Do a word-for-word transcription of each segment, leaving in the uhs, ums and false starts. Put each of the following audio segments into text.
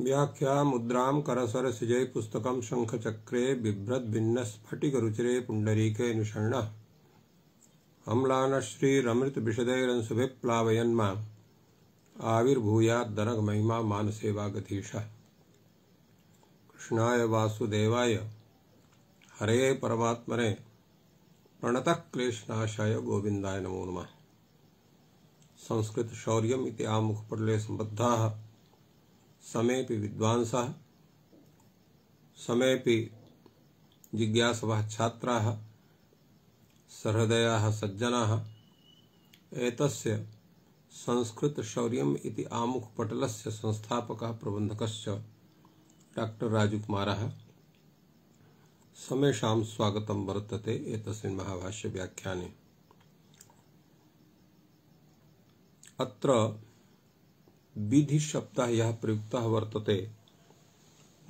व्याख्या मुद्रां करसरसिजै पुस्तकं शंखचक्रे बिभ्रद् भिन्न स्फटिकरुचिरे पुण्डरीके निषण्णः अम्लानश्रीरमृतविशदैरंशुभिप्लावयन्माम् आविर्भूयाद्दनगमहिमा मानसे वागधीशः। कृष्णाय वासुदेवाय हरे परमात्मने प्रणतः क्लेशनाशाय गोविन्दाय नमो नमः। संस्कृत शौर्यम् इति आमुखपटले सम्बद्धाः समेऽपि विद्वांसः समेऽपि जिज्ञासवः छात्राः सहृदयाः सज्जनाः एतस्य संस्कृत शौर्यम् इति आमुखपटलस्य संस्थापकः प्रबन्धकश्च डॉक्टर राजकुमारः समेषां स्वागतं वर्तते एतस्मिन् महाभाष्य व्याख्याने। अत्र विधि शब्दः यः प्रयुक्तः वर्तते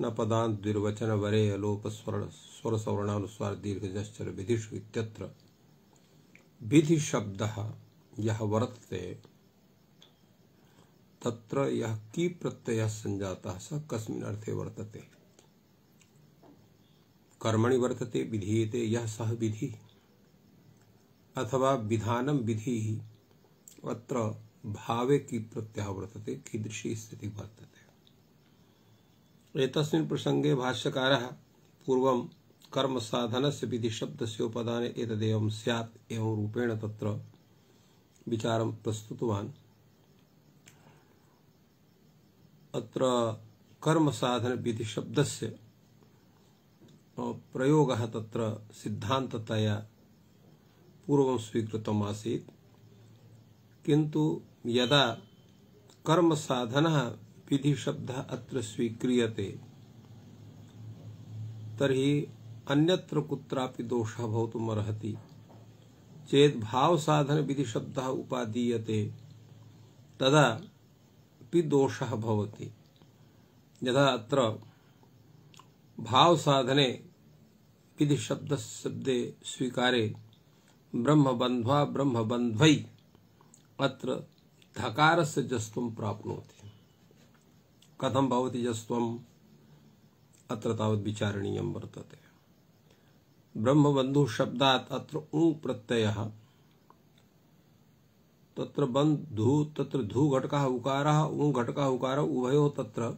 न पदान्त द्विर्वचन वरे अलोप स्वर स्वर सवर्णानुस्वार दीर्घजश्चर विधिषु इत्यत्र विधि शब्दः यः वर्तते तत्र यः की प्रत्ययः संजातः स कस्मिन् अर्थे वर्तते। कर्मणि वर्तते विधीयते यः सः विधि अथवा विधानं विधिः अत्र भावे की प्रत्ययः वर्तते कीदृशी स्थितिः वर्तते। एतस्मिन् प्रसंगे भाष्यकारः पूर्वं कर्म साधनस्य विधि शब्दस्य उपदाने एतदेवं स्यात् एवं रूपेण तत्र विचारं प्रस्तुतवान्। अत्र कर्म साधन विधि शब्दस्य प्रयोगः तत्र सिद्धान्ततया पूर्वं स्वीकृतम् आसीत्, किन्तु यदा कर्म साधनः विधि शब्दः अत्र स्वीक्रियते तर्हि अन्यत्र कुत्रापि दोषः भवितुम् अर्हति। चेत् भाव साधन विधि शब्दः उपादीयते तदा अपि दोषः भवति। यदा अत्र भाव साधने विधि शब्द शब्दे स्वीकारे ब्रह्म बन्ध्वा ब्रह्म बन्ध्वै अत्र धकारस्य जस्त्वं प्राप्नोति। कथं भवति जस्त्वम् अत्र तावत् विचारणीयं वर्तते। ब्रह्मबन्धु शब्दात् अत्र उ प्रत्ययः तत्र बन्धु तत्र धु घटकः उकारः उ घटकः उकारः उभयोः तत्र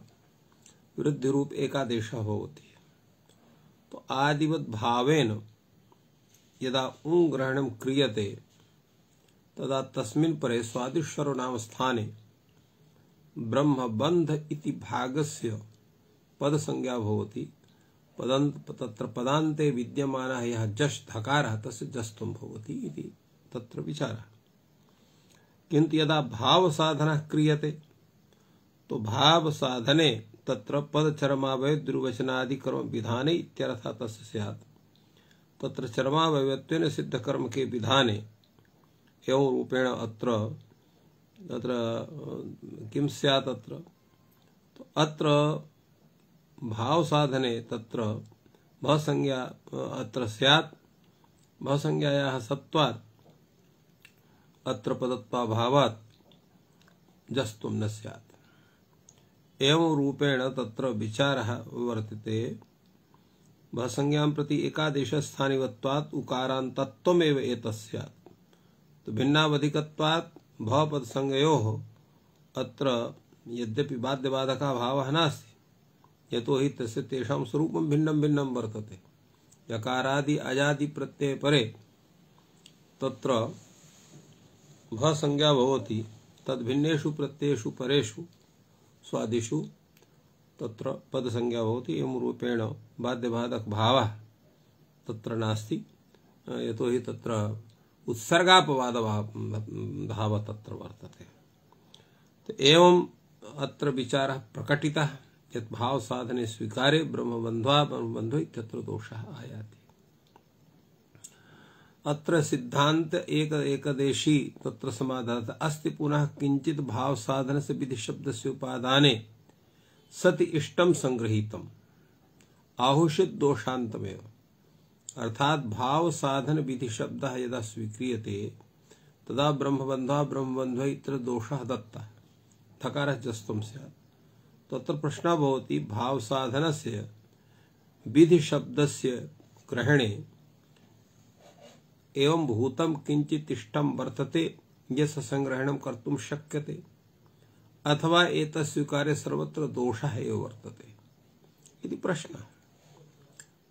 वृद्धि रूप एकादेशः भवति। तो आदिवत् भावेन यदा उ ग्रहणं क्रियते तदा तस्मिन् परे स्वादिश्वरो नाम स्थाने ब्रह्मबन्ध इति भागस्य पदसंज्ञा भवति। पदन्त तत्र पदान्ते विद्यमानः यः जश् धकारः तस्य जस्त्वं भवति इति तत्र विचारः। किन्तु यदा भाव साधनः क्रियते तो भाव साधने तत्र पदचरमावय दुर्वचनादि कर्म विधाने इत्यर्थः तस्य स्यात्। तत्र चरमावयत्वेन सिद्ध कर्म के विधाने एवं रूपेण अत्र तत्र किं स्यात् अत्र तो अत्र भाव साधने तत्र भसंज्ञा अत्र स्यात्। भसंज्ञायाः सत्वात् अत्र पदत्वा भावात् जस्त्वं न स्यात्। एवं रूपेण तत्र विचारः वर्तते। भसंज्ञां प्रति एकादेशस्थानिवत्वात् उकारान्तत्वमेव एतस्यात्। तो भिन्नावधिकत्वात् भवपदसंज्ञयोः अत्र यद्यपि बाध्यबाधकः भावः नास्ति, यतो हि तस्य तेषां स्वरूपं भिन्नं भिन्नं वर्तते। यकारादि अजादि प्रत्यय परे तत्र भसंज्ञा भवति, तद्भिन्नेषु प्रत्ययेषु परेषु स्वादिषु तत्र पदसंज्ञा भवति। एवं रूपेण बाध्यबाधक भावः तत्र नास्ति, यतो हि तत्र उत्सर्गापवाद भाव तत्र वर्तते। तो एवं अत्र विचारः प्रकटितः यत् भाव साधने स्वीकारे ब्रह्मबन्ध्वा ब्रह्मबन्धो इत्यत्र दोषः आयाति। अत्र सिद्धांत एक एकदेशी तत्र समाधानः अस्ति। पुनः किंचित भाव साधन से विधि शब्दस्य उपादाने सति इष्टं संगृहीतम् आहुषित दोषान्तमेव। अर्थात भाव साधन विधि शब्दः यदा स्वीक्रियते तदा ब्रह्मबन्ध्वा ब्रह्मबन्धो इत्यत्र दोषः दत्तः, थकारः जस्त्वं स्यात्। तत्र प्रश्नः भवति भावसाधनस्य विधिशब्दस्य ग्रहणे एवं भूतं किंचित् इष्टं वर्तते यस्य संग्रहणं कर्तुं शक्यते अथवा एतत् स्वीकार्य सर्वत्र दोषः एव वर्तते इति प्रश्नः।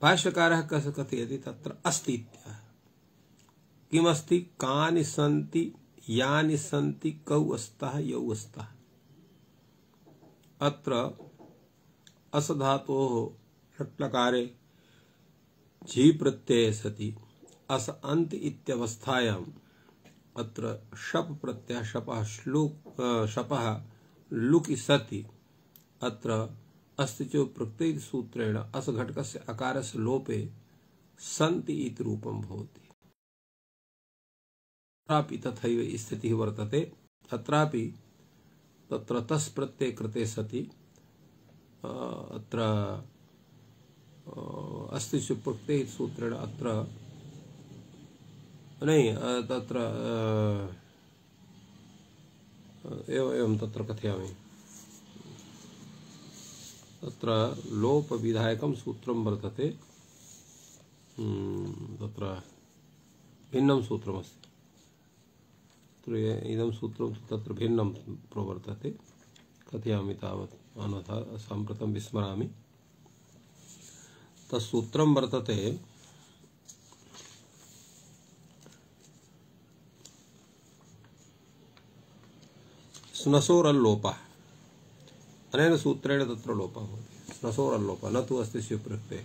भाष्यकारः कथयति तत्र अस्ति इत्याह। किमस्ति? कानि सन्ति यानि सन्ति कौ अस्तः यौ अस्तः। अत्र अस धातोः लट्लकारे झी प्रत्यये सति अस अन्त इत्यवस्थायाम् अत्र शप प्रत्ययः शपः श्लुक् शपः लुकि सति अत्र अस्ति च प्रत्यय सूत्रेण अस घटकस्य अकारस्य लोपे सन्ति इति रूपं भवति। अत्रापि तथैव स्थितिः वर्तते। अत्रापि तत्र तस् प्रत्यय कृते सति अत्र अस्ति च प्रत्यय सूत्रेण अत्र नहीं तत्र एवं एवं तत्र कथयामि। तत्र लोप विधायकं सूत्रं वर्तते। तत्र भिन्नं सूत्रमस्ति। इदं सूत्रं तत्र भिन्नं प्रवर्तते। कथयामि तावत् अन्यथा साम्प्रतं विस्मरामि। तत्सूत्रं वर्तते स्नसोरल्लोपः। अनेन सूत्रेण तत्र लोपः भवति। स्नसोरल्लोपः न तु अस्ति स्वीकृते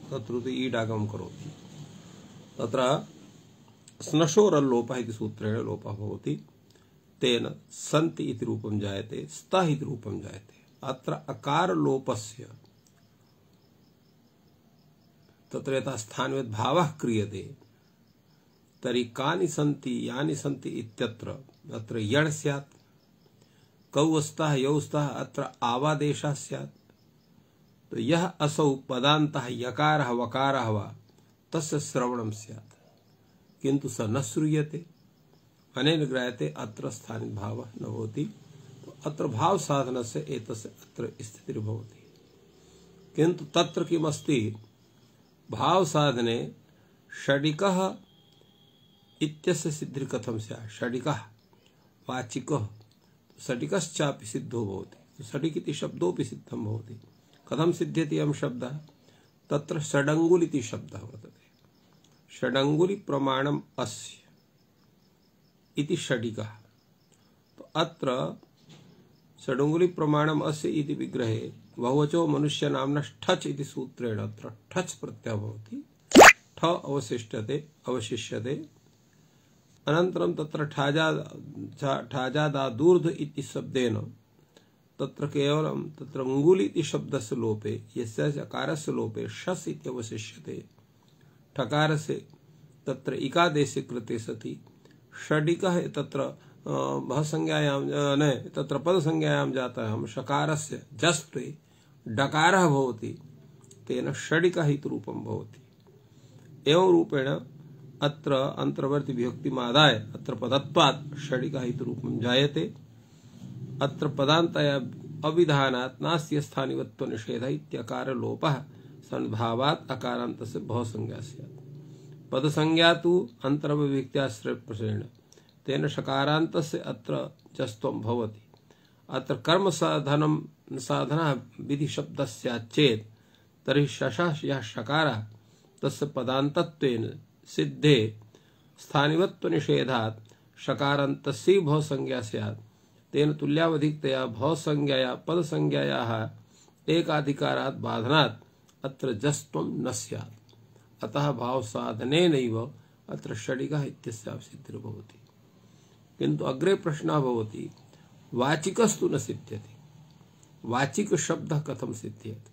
तत्र तु ईडागमं करोति। तत्र स्नशोरल्लोपः इति सूत्रेण लोपः भवति। तेन सन्ति इति रूपं जायते, स्तः इति रूपं जायते। अत्र अकार लोपस्य तत्र यथा स्थानवेद भावः क्रियते तर्हि कानि सन्ति यानि सन्ति इत्यत्र अत्र यण् स्यात्। कौ स्तः यौ स्तः अत्र आवादेशः स्यात्। तो यः असौ पदान्तः यकारः वकारः वा तस्य श्रवणं स्यात् किन्तु स न श्रूयते। अनेन ज्ञायते अत्र स्थानिक भावः न भवति। तो अत्र भाव साधनस्य एतस्य अत्र स्थितिर्भवति। किन्तु तत्र किमस्ति? भाव साधने षडिकः इत्यस्य सिद्धिः कथं स्यात्? षडिकः वाचिकः षडिकश्चापि सिद्धो भवति। षडिक इति शब्दोऽपि सिद्धं भवति। कथं सिद्ध्यति अयं शब्दः? तत्र षडङ्गुल इति शब्दः वर्तते। षडङ्गुलि प्रमाणम् अस्य इति षडिकः। तो अत्र षडङ्गुलि प्रमाणम् अस्य इति विग्रहे बहुवचो मनुष्य नाम्ना ठच् इति सूत्रेण अत्र ठच् प्रत्ययः भवति। ठ अवशिष्यते अवशिष्यते। अनन्तरं तत्र ठाजा ठाजादादूर्ध इति शब्देन तत्र केवलं तत्र अंगुलि इति शब्दस्य लोपे यस्य अकारस्य लोपे शस् इति अवशिष्यते। ठकारस्य तत्र इकादेशे कृते सति षडिकः तत्र भसंज्ञायां न तत्र पदसंज्ञायां जातः षकारस्य जस्त्वे डकारः भवति। तेन षडिकः इति रूपं भवति। एवं रूपेण अत्र अंतर्वर्ती विभक्तिमादाय अत्र पदत्वात् षडिकः इति रूपं जायते। अत्र पदान्तया अविधानात् नास्य स्थानिवत्व निषेधः इत्यकार लोपः सन्भावात् अकारान्तस्य भवसंज्ञा स्यात्। पदसंज्ञा तु अन्तर्विभक्त्याश्रयप्रश्रेण तेन षकारान्तस्य अत्र जस्त्वं भवति। अत्र कर्म साधनं साधनः विधि शब्दस्यात् चेत् तर्हि शशः यः षकारः तस्य पदान्तत्वेन सिद्धे स्थानिवत्व निषेधात् षकारान्तस्य भवसंज्ञा स्यात्। तेन तुल्यावधिकतया भवसंज्ञाया पदसंज्ञायाः एकाधिकारात् बाधनात् अत्र जस्त्वं न स्यात्। अतः भावसाधनेनैव अत्र षडिकः इत्यस्यापि सिद्धिर्भवति। किन्तु अग्रे प्रश्नः भवति वाचिकस्तु न सिद्ध्यति। वाचिक शब्दः कथं सिद्ध्यति?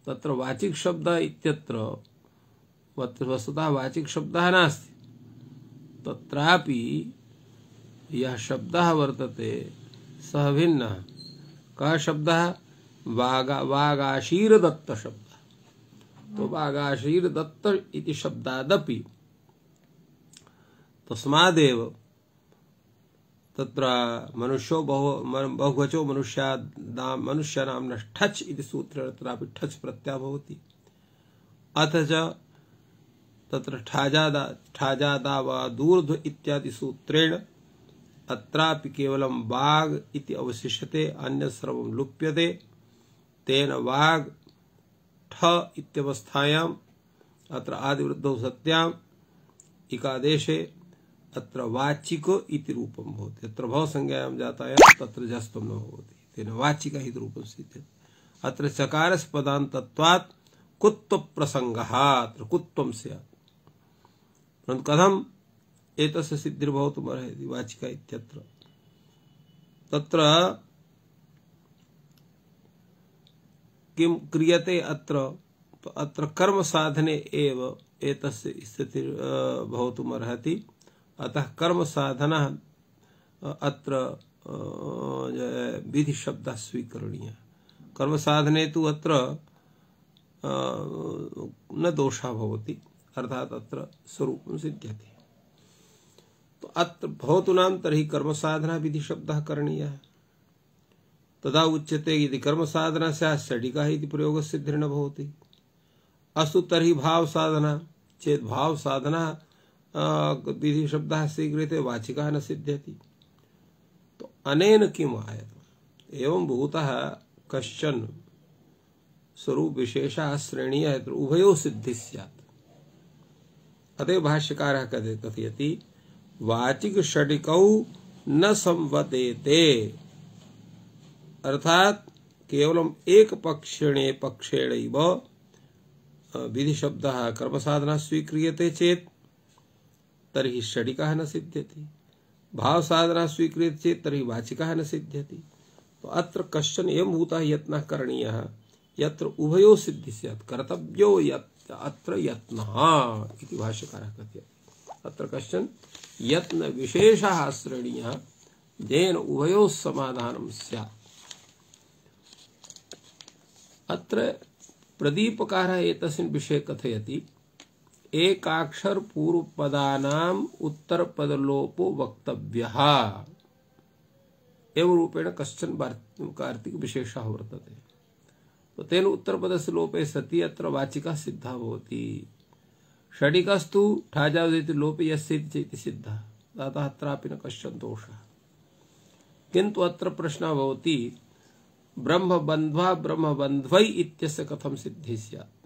तत्र वाचिक शब्दः इत्यत्र वस्तुतः वाचिक शब्दः नास्ति। तत्रापि यः शब्दः वर्तते सः भिन्नः। कः शब्दः? वागा वागाशीरदत्त शब्दः। तो वागाशीरदत्त इति शब्दादपि तस्मादेव तत्र मनुष्यो बहु बहुवचो मनुष्यानां मनुष्यानां ठच् इति सूत्रेण तत्रापि ठच् प्रत्ययः भवति। अथ च तत्र ठाजादा ठाजादा वा दूर्ध्व इत्यादि सूत्रेण अत्रापि केवलं वाग् इति अवशिष्यते, अन्य सर्वं लुप्यते। तेन वाग् ठ इत्यवस्थायाम् अत्र आदिवृद्धौ सत्याम् इकादेशे अत्र वाचिको इति रूपं भवति। अत्र भवसंज्ञायां जातायां तत्र जस्त्वं न भवति, तेन वाचिका इति रूपं सिद्ध्यति। अत्र चकारस्य पदान्तत्वात् कुत्व प्रसंगः, अत्र कुत्वं स्यात्। परन्तु कथम् एतस्य सिद्धिर्भवितुमर्हति वाचिका इत्यत्र? तत्र किं क्रियते अत्र? तो अत्र कर्म साधने एव एतस्य स्थितिः भवितुमर्हति। अतः कर्म साधनः अत्र विधि शब्दः स्वीकरणीयः। कर्म साधने तु अत्र न दोषः भवति, अर्थात् अत्र स्वरूपं सिद्ध्यति। तो अत्र भवतु नाम तर्हि कर्म साधना विधि शब्दः करणीयः। तदा उच्यते यदि कर्म साधना स्यात् षडिका इति प्रयोगः सिद्धिर्न भवति। अस्तु तर्हि भाव साधना चेत् भाव साधना विधि शब्दः स्वीक्रियते, वाचिका न सिद्ध्यति। तो अनेन किम् आयतम्? एवं भूतः कश्चन स्वरूप विशेषः श्रेणीयः यत्र उभयोः सिद्धिः स्यात्। अतः भाष्यकारः कथयति वाचिक षडिकौ न संवदेते, अर्थात केवलम एक पक्षेणे पक्षेणैव विधि शब्दः कर्म साधना स्वीक्रियते चेत् तर्हि षडिकः न सिद्ध्यति, भाव साधना स्वीक्रियते चेत् तर्हि वाचिकः न सिद्ध्यति। तो अत्र कश्चन एवं भूतः यत्नः करणीयः यत्र उभयोः सिद्धिः स्यात्, कर्तव्यो यत् अत्र यत्नः इति भाष्यकारः कथयति। अत्र कश्चन यत्न विशेषः श्रेणीयः येन उभयोः समाधानं स्यात्। अत्र प्रदीपकारः एतस्मिन् विषये कथयति एकाक्षर पूर्वपदानाम् उत्तरपदलोपो वक्तव्यः एवं रूपेण कश्चन कार्तिक विशेषः वर्तते। तो तेन उत्तरपदस्य लोपे सति अत्र वाचिका सिद्धा भवति। षडिकस्तु ठाजादिति लोपे यस्य इति सिद्धः, अतः अत्रापि न कश्चन दोषः। किन्तु अत्र प्रश्नः भवति ब्रह्मबन्ध्वा ब्रह्मबन्ध्वै इत्यस्य कथं सिद्धिः स्यात्?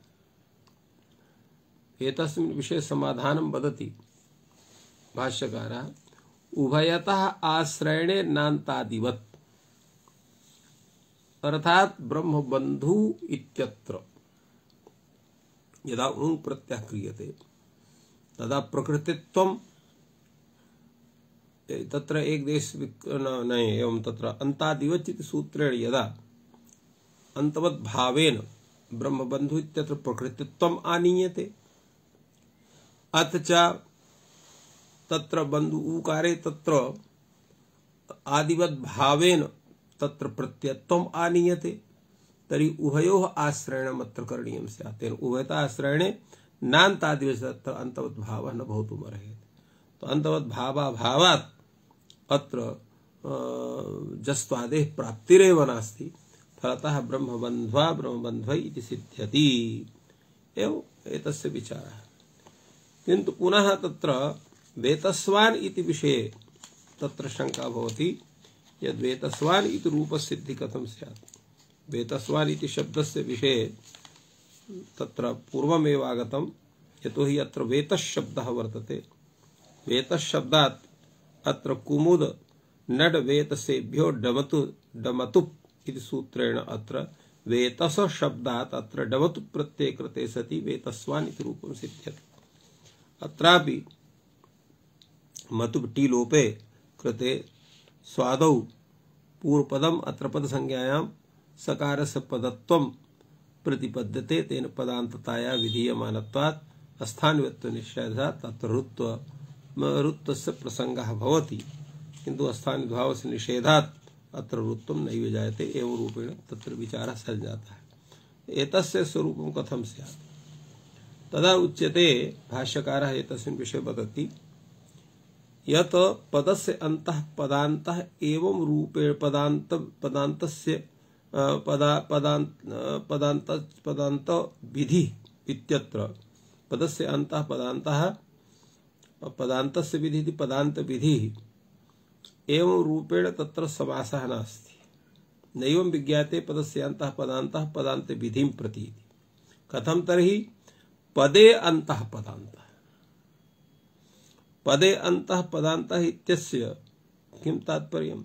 एतस्मिन् विषये समाधानं वदति भाष्यकारः उभयतः आश्रयणे नान्तादिवत्, अर्थात ब्रह्मबन्धु इत्यत्र यदा उङ् प्रत्ययः क्रियते तदा प्रकृतित्वं तत्र एक देश न एवं तत्र अन्तादिवत् इति सूत्रेण यदा अन्तवत् भावेन ब्रह्मबन्धु इत्यत्र प्रकृतित्वम् आनीयते, अथ च तत्र बन्धु उकारे तत्र आदिवत् भावेन तत्र प्रत्ययत्वम् आनीयते, तर्हि उभयोः आश्रयणम् अत्र करणीयं स्यात्। तेन उभयतः आश्रयणे नान्तादिवत् तत्र अन्तवत् भावः न भवितुमर्हति। तो अन्तवत् भावाभावात् अत्र जस्त्वादेः प्राप्तिरेव नास्ति, फलतः ब्रह्मबन्ध्वा ब्रह्मबन्ध्वै इति सिद्ध्यति। एवं एतस्य विचारः। किन्तु पुनः तत्र वेतस्वान् इति विषये तत्र शंका भवति यद् वेतस्वान् इति रूपसिद्धिः कथं स्यात्? वेतस्वान् इति शब्दस्य विषये तत्र पूर्वमेव आगतं, यतोहि अत्र वेतशब्दः वर्तते। वेतशब्दात् अत्र कुमुद नड वेतसेभ्यो डमतु डमतुप् इति सूत्रेण अत्र वेतस शब्दात् अत्र डमतु प्रत्यये कृते सति वेतस्वान् इति रूपं सिद्ध्यति। अत्रापि मतुप् टी लोपे कृते स्वादौ पूर्वपदम् अत्र पदसंज्ञायां सकारस्य पदत्वं प्रतिपद्यते, तेन पदान्तताया विधीयमानत्वात् स्थानव्यत्व निषेधात् तत्र ऋत्व ऋत्वस्य प्रसंगः भवति, किन्तु स्थानिद्भावस्य निषेधात् अत्र ऋत्वं नैव जायते। एवं रूपेण तत्र विचारः सञ्जातः है। एतस्य स्वरूपं कथं स्यात्? तदा उच्यते भाष्यकारः एतस्मिन् विषये वदति यत पदस्य अंतः पदान्तः एवं रूपे पदान्त पदान्तस्य पदा पदान्त पदान्त पदान्त विधि इत्यत्र पदस्य अंतः पदान्तः पदान्तस्य विधि पदान्त विधि एवं रूपेण तत्र समासः नास्ति। नैवं विज्ञाते पदस्य अंतः पदान्तः पदान्त विधिं प्रति। कथं तर्हि पदे अंतः पदान्तः पदे अंतः पदान्तः इत्यस्य किं तात्पर्यम्?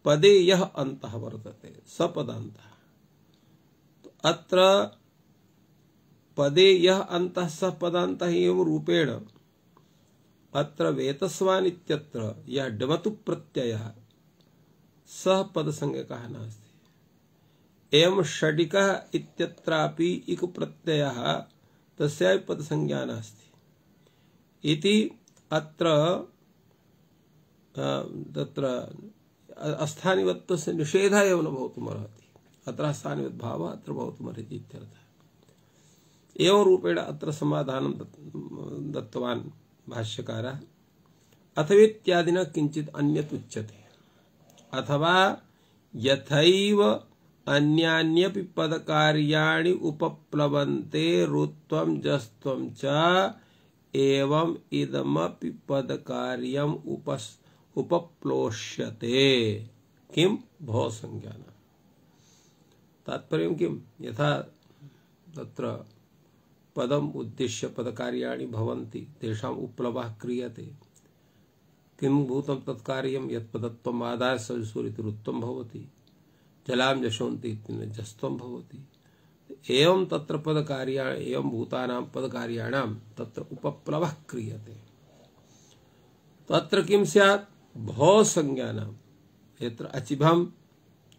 पदे यः अंतः वर्तते स पदान्तः। तो अत्र पदे यः अंतः स पदान्तः एवं रूपेण अत्र वेतस्वान् इत्यत्र यः डमतु प्रत्ययः सः पदसंज्ञकः नास्ति। एवं षडिकः इत्यत्रापि इक् प्रत्ययः तस्यापि पदसंज्ञा नास्ति इति अत्र तत्र अस्थानिवत्वस्य निषेधः एव न भवितुमर्हति। अत्र स्थानिवद्भावः अत्र भवितुमर्हति इत्यर्थः। एवं रूपेण अत्र समाधानं दत्तवान् भाष्यकारः। अथवेत्यादिना किञ्चित् अन्यत् उच्यते। अथवा यथैव अन्यान्यपि पदकार्याणि उपप्लवन्ते रुत्वं जस्त्वं च एवं इदमपि पदकार्यम् उपस् उपप्लोष्यते किम भव संज्ञान। तात्पर्यं किम? यथा तत्र पदम उद्दिश्य पदकार्याणि भवन्ति तेषाम् उपप्लवः क्रियते। किं भूतं तत्कार्यं यत् पदत्वम् आदाय सविसुरिति रुत्वं भवति, जलां जशोन्ति इत्यनेन जस्त्वं भवति। एवं तत्र पदकार्या एवं भूतानां पदकार्याणां तत्र उपप्लवः क्रियते। तत्र किं स्यात्? भव संज्ञानां यत्र अचिभं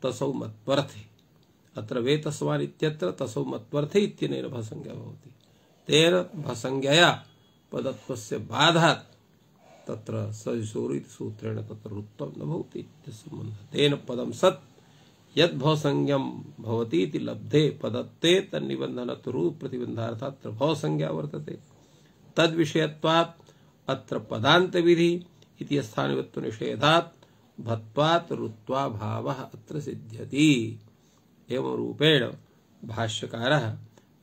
तसौ मत्वर्थे। अत्र वेतस्वान् इत्यत्र तसौ मत्वर्थे इत्यनेन भसंज्ञा भवति। तेन भसंज्ञया पदत्वस्य बाधात् तत्र सविसुरिति सूत्रेण तत्र रुत्वं न भवति इत्यस्य सम्बन्धः। तेन पदं सत् यद् भवसंज्ञं भवति इति लब्धे पदत्वे तन्निबन्धनतो रूप प्रतिबन्धार्थात् अत्र भवसंज्ञा वर्तते। तद्विषयत्वात् अत्र पदान्त विधि इति स्थानिवत्व निषेधात् भत्वात् रुत्वा भावः अत्र सिद्ध्यति। एवं रूपेण भाष्यकारः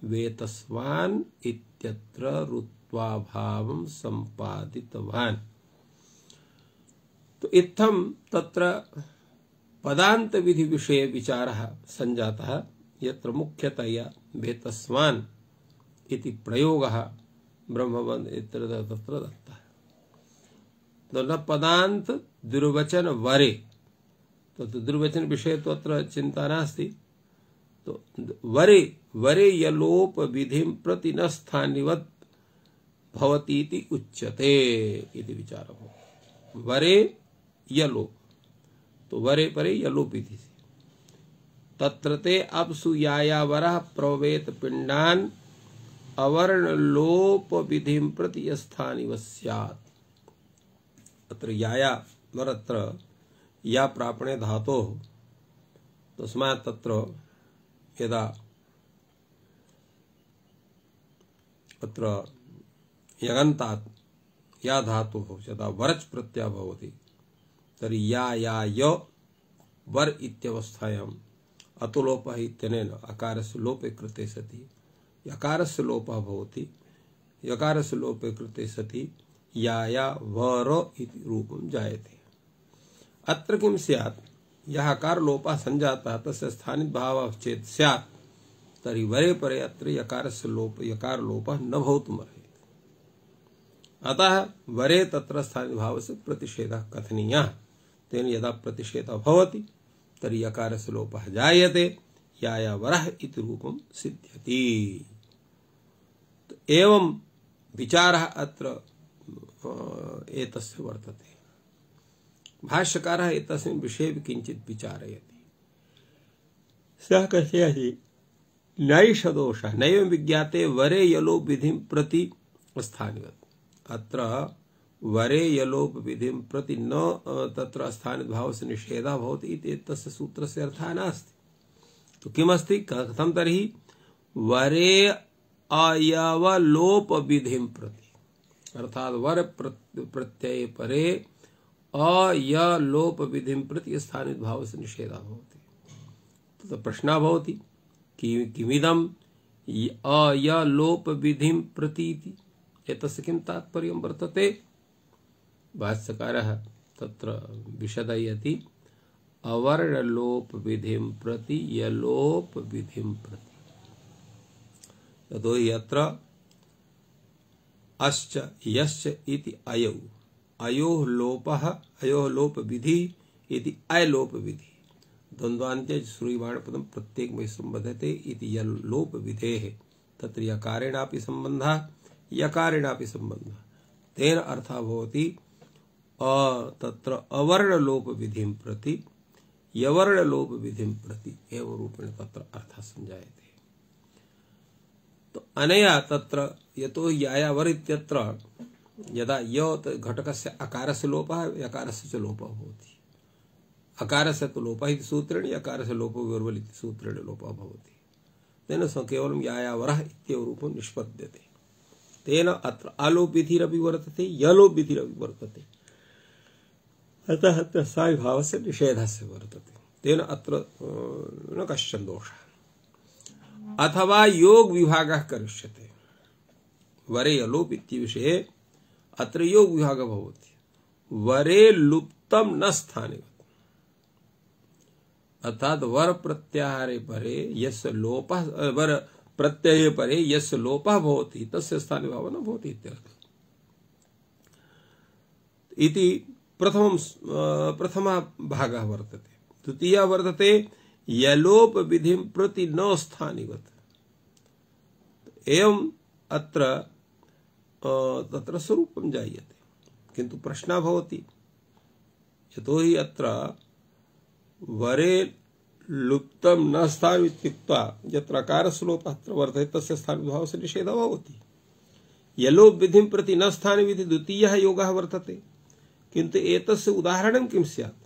वेतस्वान् इत्यत्र रुत्वा भावं सम्पादितवान्। तो इत्थं तत्र पदान्त विधि विषये विचारः संजातः, यत्र मुख्यतया वेतस्वान् इति प्रयोगः ब्रह्मवन् इत्यत्र तत्र दत्तः। तो न पदान्त दुर्वचन वरे, तो दुर्वचन विषय तो अत्र चिंता नास्ति। तो वरे वरे यलोप विधिं प्रति न स्थानिवत् भवति इति उच्यते इति विचारः। वरे यलोप, तो वरे परे यलोप विधि से तत्र ते अपसु यायावरः प्रवेत पिंडान अवर्ण लोप विधिं प्रति स्थानिवत् स्यात्। अत्र याया वरत्र या प्रापणे धातोः तस्मात् तत्र यदा अत्र यगन्तात् या धातुः यदा वरच् प्रत्ययः भवति तर्हि या या य वर इत्यवस्थायाम् अतुलोपः इत्यनेन अकारस्य लोपे कृते सति यकारस्य लोपः भवति। यकारस्य लोपे कृते सति या या वर इति रूपं जायते। अत्र किं स्यात्? यः अकार लोपः संजातः तस्य स्थानित भावः चेत् स्यात् तर्हि वरे परे अत्र यकारस्य लोप यकार लोपः न भवितुमर्हति। अतः वरे तत्र स्थानित भावस्य प्रतिषेधः कथनीयः। तेन यदा प्रतिषेधः भवति तर्हि यकारस्य लोपः जायते, या या वरः इति रूपं सिद्ध्यति। तो एवं विचारः अत्र एतस्य वर्तते। भाष्यकारः एतस्मिन् विषये किञ्चित् विचारयति। सः कथयति नैष दोषः नैव विज्ञाते वरे यलोप विधिं प्रति स्थानिवत्। अत्र वरे यलोप विधिं प्रति न तत्र स्थानित भावस्य निषेधः भवति इति एतस्य सूत्रस्य अर्थः नास्ति। तो किमस्ति? कथं तर्हि वरे अयवलोप विधिं प्रति। अर्थात वर प्रत्यय परे अ य लोप विधिं प्रति स्थानित भाव से निषेधः भवति। तत्र प्रश्नः भवति कि किमिदं अ य लोप विधिं प्रति इति एतस्य किं तात्पर्यं वर्तते। भाष्यकारः तत्र विशदयति अवर्णलोप विधिं प्रति यलोप विधिं प्रति। यतो हि अत्र अश्च यश्च इति अयौ अयोः लोपः अयोः लोप विधि इति अयलोप विधि द्वन्द्वान्त्य श्रूयमाणपदं प्रत्येकमयि संबध्यते इति यलोप विधेः तत्र यकारेणापि सम्बन्धः यकारेणापि सम्बन्धः तेन अर्थः भवति अ तत्र अवर्णलोप विधिं प्रति यवर्णलोप विधिं प्रति एवं रूपेण तत्र अर्थः संजायते। तो अनया तत्र यतो यायावर इत्यत्र यदा य घटकस्य अकारस्य लोपः यकारस्य च लोपः भवति। अकारस्य तु लोपः इति सूत्रेण यकारस्य लोपो विवर्वल इति सूत्रेण लोपः भवति। तेन स केवलं यायावरः इत्येव रूपं निष्पद्यते। तेन अत्र आलोप विधिरपि वर्तते यलोप विधिरपि वर्तते। अतः तस्याः भावस्य निषेधस्य वर्तते। तेन अत्र न कश्चन दोषः। अथवा योग विभागः करिष्यते वरे यलोप इति विषये अत्र योग विभागः भवति। वरे लुप्तं न स्थाने अर्थात वर प्रत्याहारे परे यस्य लोपः वर प्रत्यये परे यस्य लोपः भवति तस्य स्थाने भावः न भवति इत्यर्थः। इति प्रथमं प्रथमः भागः वर्तते। द्वितीयः वर्तते यलोप विधिं प्रति न स्थानिवत्। एवं अत्र तत्र स्वरूपं जायते। किन्तु प्रश्नः भवति यतो हि अत्र वरे लुप्तं न स्थानम् इत्युक्त्वा यत्र अकारस्य लोपः अत्र वर्तते तस्य स्थानभावस्य निषेधः भवति। यलोप विधिं प्रति न स्थानम् इति द्वितीयः योगः वर्तते। किन्तु एतस्य उदाहरणं किं स्यात्?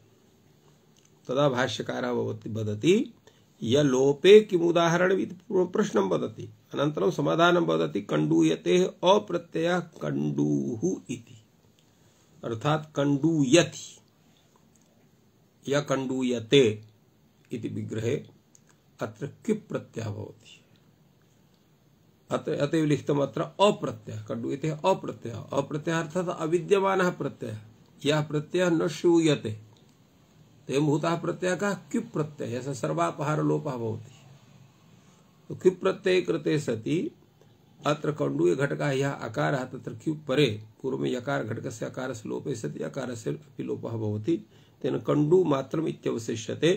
तदा भाष्यकारः भवति वदति यलोपे किम् उदाहरणम् इति प्रश्नं वदति। अनन्तरं समाधानं वदति कण्डूयतेः अप्रत्ययः कण्डूः इति अर्थात् कण्डूयति य कण्डूयते इति विग्रहे अत्र किप् प्रत्ययः भवति। अत्र अतएव लिखितम् अत्र अप्रत्ययः कण्डूयतेः अप्रत्ययः अप्रत्ययः अर्थात् अविद्यमानः प्रत्ययः यः प्रत्ययः न श्रूयते तेन भूतः प्रत्ययः कः किप् प्रत्ययः यस्य सर्वापहार लोपः भवति। तो किप् प्रत्यये कृते सति अत्र कण्डूय घटकः यः अकारः तत्र किप् परे पूर्व में यकार घटकस्य अकारस्य लोपे सति अकारस्य अपि लोपः भवति। तेन कण्डू मात्रम् इत्यवशिष्यते।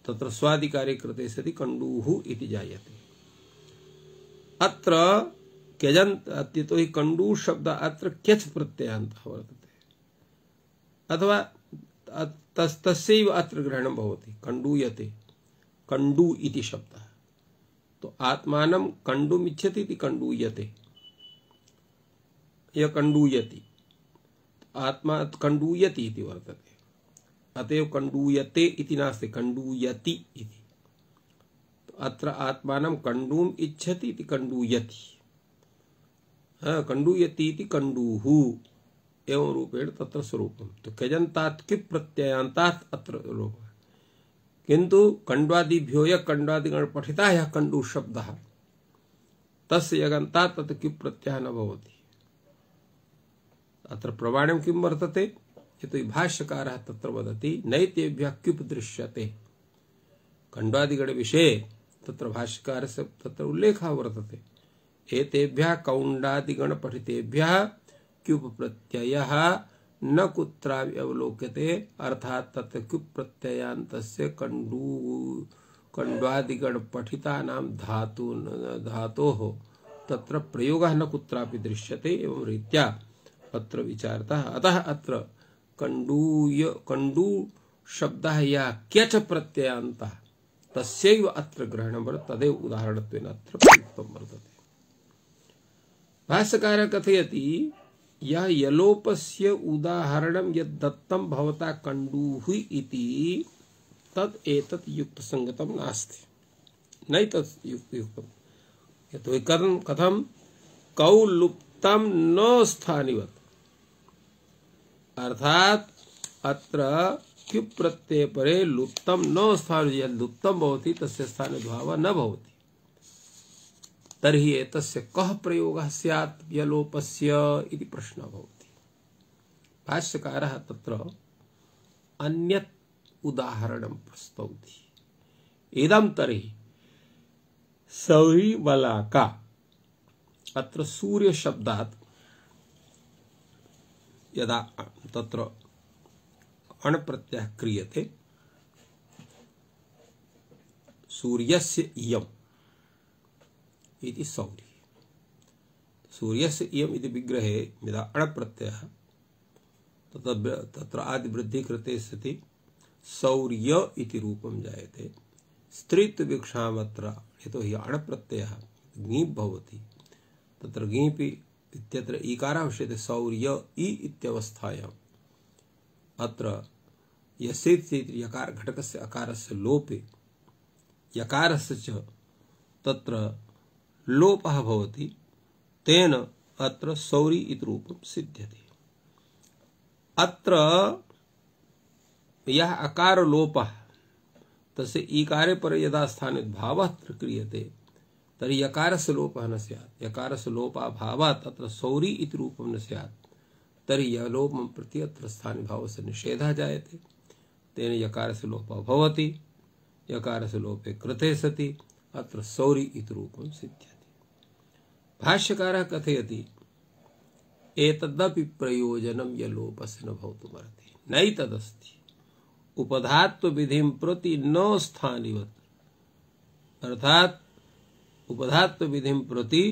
तत्र स्वादिकारे कृते सति कण्डूः इति जायते। अत्र क्यजन्त अत्यतो हि कण्डू शब्द अत्र क्यच प्रत्ययान्तः वर्तते अथवा तस्यैव अत्र ग्रहणं भवति कण्डूयते कण्डू इति शब्दः। तो आत्मानं कण्डुम् इच्छति इति कण्डूयते य कण्डूयति आत्मा कण्डूयति इति वर्तते। अतएव कण्डूयते इति नास्ति कण्डूयति इति। तो अत्र आत्मानं कण्डुम् इच्छति इति कण्डूयति कण्डूयति इति कण्डूः एवं रूपेण तत्र स्वरूपम्। तो क्यजन्तात् किप् प्रत्ययान्तात् अत्र लोपः। किन्तु कण्ड्वादिभ्यो यः कण्ड्वादिगण पठितः यः कण्डू शब्दः तस्य यगन्तात् तत्र किप् प्रत्ययः न भवति। अत्र प्रमाणं किं वर्तते यतो हि भाष्यकारः तत्र वदति नैतेभ्यः किप् दृश्यते। कण्ड्वादिगण विषये तत्र भाष्यकारस्य तत्र उल्लेखः वर्तते। एतेभ्यः कौण्डादिगण पठितेभ्यः क्युप् प्रत्ययः न कुत्रापि अवलोक्यते अर्थात तत्र क्युप् प्रत्ययान्तस्य कण्डू कण्ड्वादिगण पठितानां धातु धातोः तत्र प्रयोगः न कुत्रापि दृश्यते। एवं रीत्या अत्र विचारतः। अतः अत्र कण्डूय कण्डू शब्दः यः क्यच प्रत्ययान्तः तस्यैव अत्र ग्रहणं वर्तते। तदेव उदाहरणत्वेन अत्र प्रयुक्तं वर्तते। भाष्यकारः कथयति यह यलोपस्य उदाहरणं यद् दत्तं भवता कण्डूः इति तद् एतत् युक्तसंगतं नास्ति नैतत् युक्तं। यतो हि कथं कथं कौ लुप्त लुप्तम न स्थानिवत्, अर्थात अत्र क्युप् प्रत्यय परे लुप्तम न स्थान, यद् लुप्तम भवति तस्य स्थानभावः न भवति। तर्हि एतस्य कः प्रयोगः स्यात् यलोपस्य इति प्रश्नः भवति। भाष्यकारः तत्र अन्यत् उदाहरणं प्रस्तौति। इदं तर्हि सौरी वलाका, अत्र सूर्य शब्दात् यदा तत्र अण् प्रत्ययः क्रियते, सूर्यस्य इयम् इति सौरी, सूर्यस्य इयम् इति विग्रहे यदा अण् प्रत्ययः तत्र तत्र आदिवृद्धि कृते सति सौर्य इति रूपं जायते। स्त्रीत्व विवक्षामत्र यतोहि अण् प्रत्ययः ङीप् भवति, तत्र ङीपि इत्यत्र ईकारः विष्यते सौर्य इ इत्यवस्थायाम्। अत्र यस्येति यकार घटकस्य अकारस्य लोपे यकारस्य च तत्र लोपः भवति, तेन अत्र सौरी इति रूपं सिद्ध्यते। अत्र यः अकार लोपः तस्य ईकारे पर यदा स्थानिद्भावः क्रियते तर्हि यकारस्य लोपः न स्यात्। यकारस्य लोपाभावात् अत्र सौरी इति रूपं न स्यात्। तर्हि यलोपं प्रति अत्र स्थानिभावस्य निषेधः जायते, तेन यकारस्य लोपः भवति। यकारस्य लोपे कृते सति अत्र सौरी इति रूपं सिद्ध्यति। भाष्यकारः कथयति एतदपि प्रयोजनं यलोपस्य न भवितुमर्हति, नैतदस्ति उपधात्व विधिं प्रति न स्थानिवत्, अर्थात उपधात्व विधिं प्रति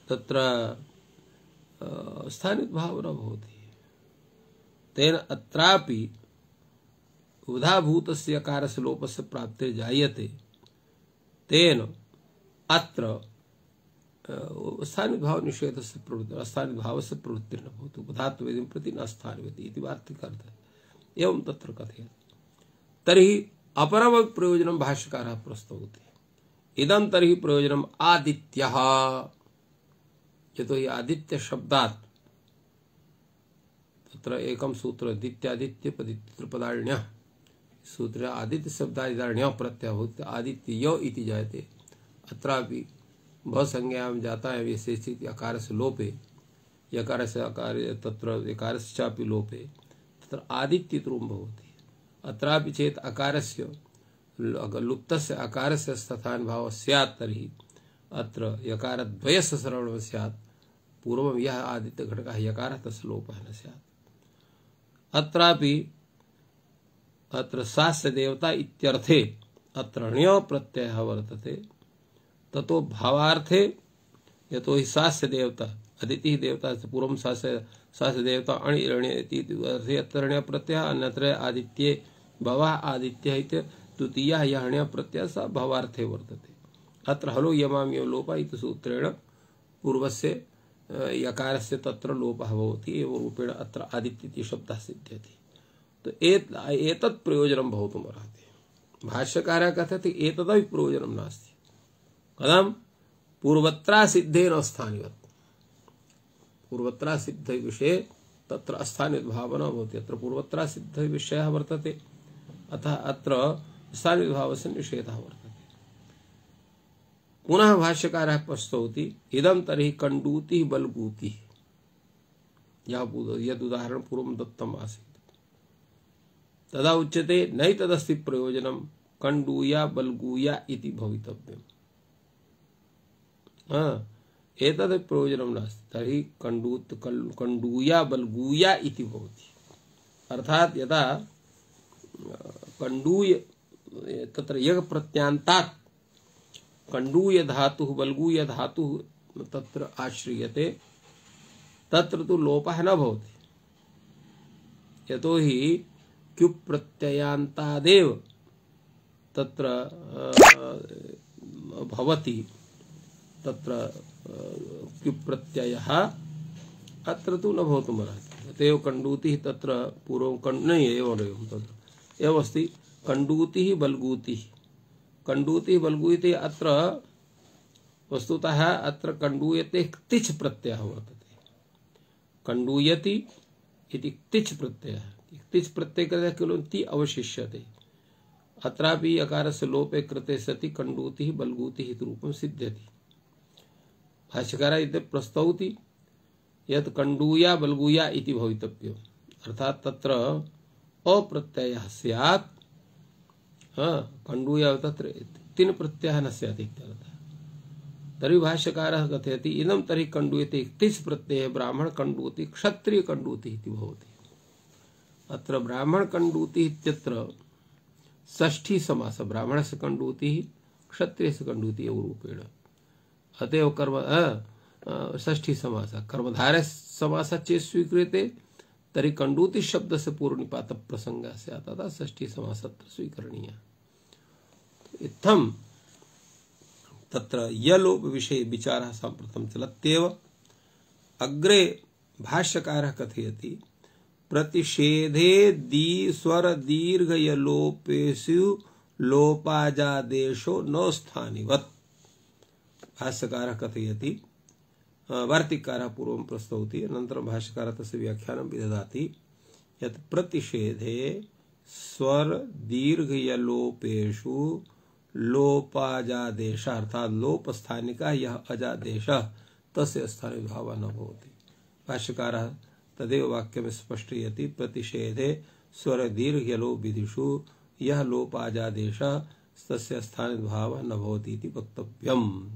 तत्र स्थानित भाव न भवति। तेन अत्रापि उदाभूतस्य यकारस्य लोपस्य प्राप्तिर् जायते, तेन अत्र स्थानित भाव निषेधस्य प्रवृत्ति स्थानित भावस्य प्रवृत्तिर्न भवति, उपधात्व विधिं प्रति न स्थानिवति इति वार्तिकार्थः। एवं तत्र कथयति। तर्हि अपरं प्रयोजनं भाष्यकारः प्रस्तौति। इदं तर्हि प्रयोजनम् आदित्यः, यतोहि आदित्य शब्दात् तत्र एकं सूत्र दित्यादित्य पदित्रिपदार्ण्यः सूत्र आदित्य शब्दादिदार्ण्यः प्रत्ययः भवति, आदित्य इति जायते। अत्रापि भसंज्ञायां जाता है विशेषित अकारस्य लोपे यकारस्य अकार तत्र यकारस्य चापि लोपे तत्र आदित्य इति रूपं भवति। अत्रापि चेत् अकारस्य लुप्तस्य अकारस्य स्थानभावः स्यात् तर्हि अत्र यकारद्वयस्य श्रवणं स्यात्। पूर्वं यः आदित्य घटकः यकारः तस्य लोपः न स्यात्। अत्रापि अत्र सास्य देवता इत्यर्थे अत्र ण्य प्रत्ययः वर्तते। ततो भावार्थे यतोहि सास्य देवता अदितिः देवता पूर्वं सास्य सास्य देवता अणि ण्य इति अर्थे अत्र ण्य प्रत्ययः, अन्यत्र आदित्ये भवः आदित्यः इति द्वितीयः यः ण्य प्रत्ययः सः भावार्थे वर्तते। अत्र हलो यमामि लोपः इति सूत्रेण पूर्वस्य यकारस्य तत्र लोपः भवति, एवं रूपेण अत्र आदित्य इति शब्दः सिद्ध्यति। तो एत एतत् प्रयोजनं भवितुमर्हति। भाष्यकारः कथयति एतदपि प्रयोजनं नास्ति। कथं? पूर्वत्रा सिद्धेन स्थानिवत्, पूर्वत्रा सिद्ध विषये तत्र अस्थानित भावना भवति। अत्र पूर्वत्रा सिद्ध विषयः वर्तते, अतः अत्र स्थानित भावस्य निषेधः वर्तते। पुनः भाष्यकारः प्रस्तौति इदं तर्हि कण्डूतिः बलगूतिः, यद् उदाहरणं पूर्वं दत्तम् आसीत् तदा उच्यते नैतदस्ति प्रयोजनं कण्डूया बलगूया इति भवितव्यम्। एतद् प्रयोजनं नास्ति। तर्हि कण्डूत कण्डूया बलगूया इति भवति। अर्थात् यदा कण्डूय तत्र यग प्रत्यांतात् कण्डूय धातुः बलगूय धातुः तत्र आश्रियते, तत्र तु लोपः न भवति। यतोहि क्युप् प्रत्ययान्तादेव तत्र भवति, तत्र क्युप् प्रत्ययः अत्र तु न भवितुमर्हति। अतएव कण्डूतिः तत्र पूर्वं कण् न एवं एवं तत्र एवम् अस्ति कण्डूतिः बलगूतिः। कण्डूतिः बलगूतिः अत्र वस्तुतः अत्र कण्डूयते तिच् प्रत्ययः वर्तते। कण्डूयति इति तिच् प्रत्ययः। तिच् प्रत्यय कृते केवलं ति अवशिष्यते। अत्रापि अकारस्य लोपे कृते सति कण्डूतिः बल्गूतिः इति रूपं सिद्ध्यति। भाष्यकारः इति प्रस्तौति यत् कण्डूया बल्गूया इति भवितव्यम्, अर्थात् तत्र अप्रत्ययः स्यात्। कण्डूया तत्र तिन् प्रत्ययः न स्यात् इत्यर्थः। तर्हि भाष्यकारः कथयति इदं तर्हि कण्डूयते तिच् प्रत्ययः ब्राह्मण कण्डूति क्षत्रिय कण्डूति इति भवति। अत्र ब्राह्मण कण्डूति इत्यत्र षष्ठी समास, ब्राह्मणस्य कण्डूतिः क्षत्रियस्य कण्डूति एव रूपेण। अतएव कर्म षष्ठी समास कर्मधारय समास चेत् स्वीक्रियते तर्हि कण्डूति शब्दस्य पूर्वनिपात प्रसंगः स्यात्, अतः षष्ठी समास अत्र स्वीकरणीयः। इत्थं तत्र यलोप विषये विचारः साम्प्रतं चलत्येव। अग्रे भाष्यकारः कथयति प्रतिषेधे दी स्वर दीर्घ यलोपेषु लोपाजादेशो न स्थानिवत्। भाष्यकारः कथयति, वार्तिककारः पूर्वं प्रस्तौति, अनन्तरं भाष्यकारः तस्य व्याख्यानं विदधाति यत् प्रतिषेधे स्वर दीर्घ यलोपेषु लोपाजादेशः अर्थात् लोपस्थानिकः यः अजादेशः तस्य स्थाने भावः न भवति। भाष्यकारः तदेव वाक्यं स्पष्टयति प्रतिषेधे स्वर दीर्घ यलो विधिषु यः लोपाजादेशः तस्य स्थाने भावः न भवति इति वक्तव्यम्।